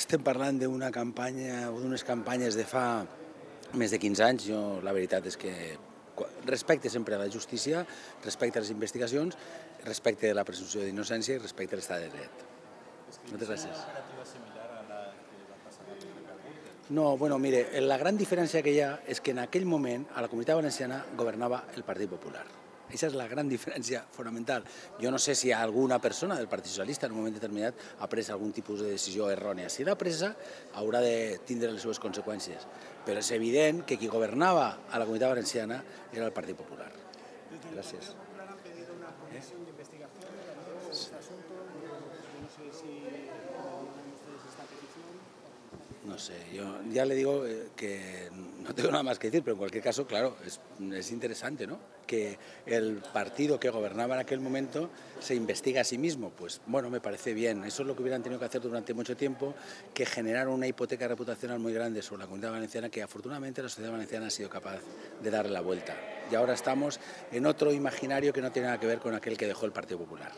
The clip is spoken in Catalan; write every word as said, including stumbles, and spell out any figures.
estem parlant d'una campanya o d'unes campanyes de fa més de quinze anys. Jo la veritat és que respecte sempre a la justícia, respecte a les investigacions, respecte a la presumpció d'innocència i respecte a l'estat de dret. Moltes gràcies. No, bueno, mire, la gran diferència que hi ha és que en aquell moment a la Comunitat Valenciana governava el Partit Popular. Aquesta és la gran diferència fonamental. Jo no sé si alguna persona del Partit Socialista en un moment determinat ha pres algun tipus de decisió errònia. Si l'ha presa, haurà de tindre les seves conseqüències. Però és evident que qui governava a la Comunitat Valenciana era el Partit Popular. Gràcies. No sé, yo ya le digo que no tengo nada más que decir, pero en cualquier caso, claro, es, es interesante, ¿no? Que el partido que gobernaba en aquel momento se investiga a sí mismo. Pues bueno, me parece bien. Eso es lo que hubieran tenido que hacer durante mucho tiempo, que generar una hipoteca reputacional muy grande sobre la Comunidad Valenciana, que afortunadamente la sociedad valenciana ha sido capaz de darle la vuelta. Y ahora estamos en otro imaginario que no tiene nada que ver con aquel que dejó el Partido Popular.